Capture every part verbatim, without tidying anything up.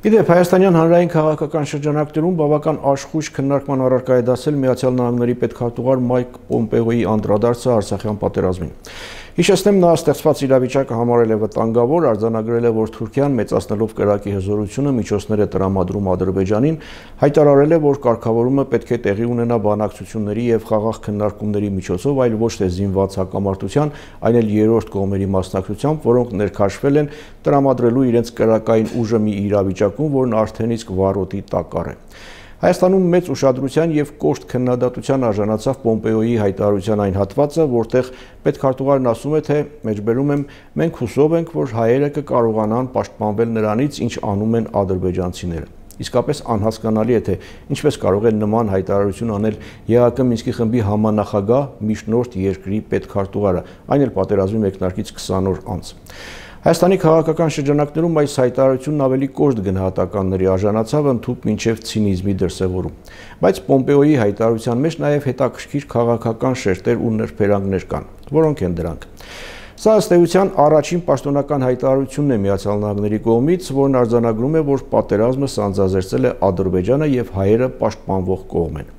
Իդեպ Հայաստանյան հանրային քաղաքական շրջանակներում բավական աշխույժ քննարկման առարկա է դասել Միացյալ Նահանգների պետքարտուղար Մայք Պոմպեոյի անդրադարձը Արցախյան պատերազմին։ Հիշեցնեմ, նա ստեղծված իրավիճակը համարել է վտանգավոր, արձանագրել է, որ Թուրքիան մեծացնելով կրակի հզորությունը միջոցներ է տրամադրում Ադրբեջանին, հայտարարել է, որ կարգավորումը պետք է տեղի ունենա բանակցությունների եւ խաղաղ քննարկումների միջոցով, այլ ոչ թե զինված հակամարտության, այլ էլ երրորդ կողմերի մասնակցությամբ, որոնք ներքաշվել են տրամադրելու իրենց կրակային ուժը մի իրավիճակում, որն արդեն իսկ վառոտի տակառ է։ Հայաստանում մեծ ուշադրության եւ կոշտ քննադատության արժանացավ Պոմպեոյի հայտարարության այն հատվածը, որտեղ պետքարտուղարն ասում է, թե մեջբերում եմ, մենք հուսով ենք, որ հայերը կկարողանան պաշտպանվել նրանից, ինչ անում են ադրբեջանցիները։ Իսկապես անհասկանալի է, թե ինչպես կարող է նման հայտարարություն անել ԵԱՀԿ Մինսկի խմբի համանախագահ միջնորդ երկրի պետքարտուղարը, այն էլ պատերազմի մեկնարկից քսան օր անց։ Հայաստանի քաղաքական շրջանակներում այս հայտարարությունն ավելի կոշտ գնահատականների արժանացավ, ընդհուպ մինչև ցինիզմի դրսևորում։ Բայց Պոմպեոյի հայտարարության մեջ նաև հետաքրքիր քաղաքական շերտեր ու նրբերանգներ կան, որոնք են դրանք։ Սա ըստ էության առաջին պաշտոնական հայտարարությունն է Միացյալ Նահանգների կողմից, որն արձանագրում է, որ պատերազմը սանձազերծել է Ադրբեջանը եւ հայերը պաշտպանվող կողմ են։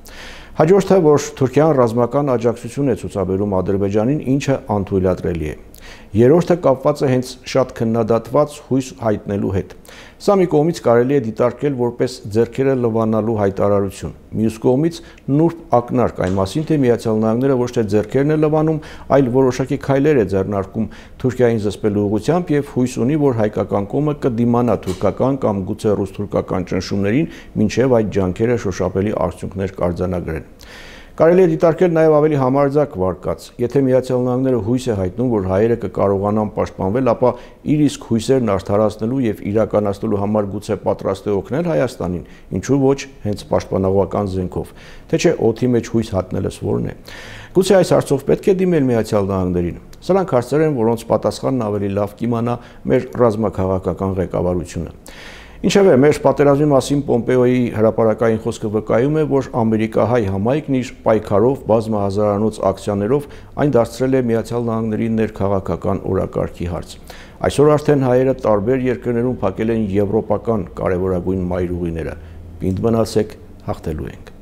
Հաջորդը, որ Թուրքիան ռազմական աջակցություն է ցուցաբերում Ադրբեջանին, ինչը անթույլատրելի է։ Երրորդը կապված է հենց շատ քննադատված հույս հայտնելու հետ։ Սա մի կողմից կարելի է դիտարկել որպես ձեռքերը լվանալու հայտարարություն, մյուս կողմից նուրբ ակնարկ այն մասին, թե Միացյալ Նահանգները ոչ թե ձեռքերն է լվանում, այլ որոշակի քայլեր է ձեռնարկում Թուրքիային զսպելու ուղղությամբ եւ հույս ունի, որ հայկական կողմը կդիմանա թուրքական կամ գուցե ռուս-թուրքական ճնշումներին, մինչեւ այդ ջանքերը շոշափելի արդյունքներ կարձանագրեն։ Կարելի է դիտարկել նաև ավելի համարձակ վարկած։ Եթե Միացյալ Նահանգները հույս է հայտնում, որ հայերը կկարողանան պաշտպանվել, ապա իր իսկ հույսերն արդարացնելու եւ իրականացնելու համար գուցե պատրաստ է օգնել Հայաստանին, ինչու ոչ հենց պաշտպանողական զենքով։ Թե չէ օդի մեջ հույս հատնելս որն է։ Գուցե այս հարցով պետք է դիմել Միացյալ Նահանգներին։ Սրանք հարցեր են, որոնց պատասխանն ավելի լավ կիմանա մեր ռազմաքաղաքական ղեկավարությունը։ Ինչևէ, մեր պատերազմի մասին Պոմպեոյի հրապարակային խոսքը վկայում է, որ ամերիկահայ համայնքն իր պայքարով, բազմահազարանոց ակցիաներով այն դարձրել է Միացյալ Նահանգների ներքաղաքական օրակարգի հարց։ Այսօր արդեն հայերը տարբեր երկրներում փակել են եվրոպական կարևորագույն մայրուղիները։ Պինդ մնացեք, հաղթելու ենք։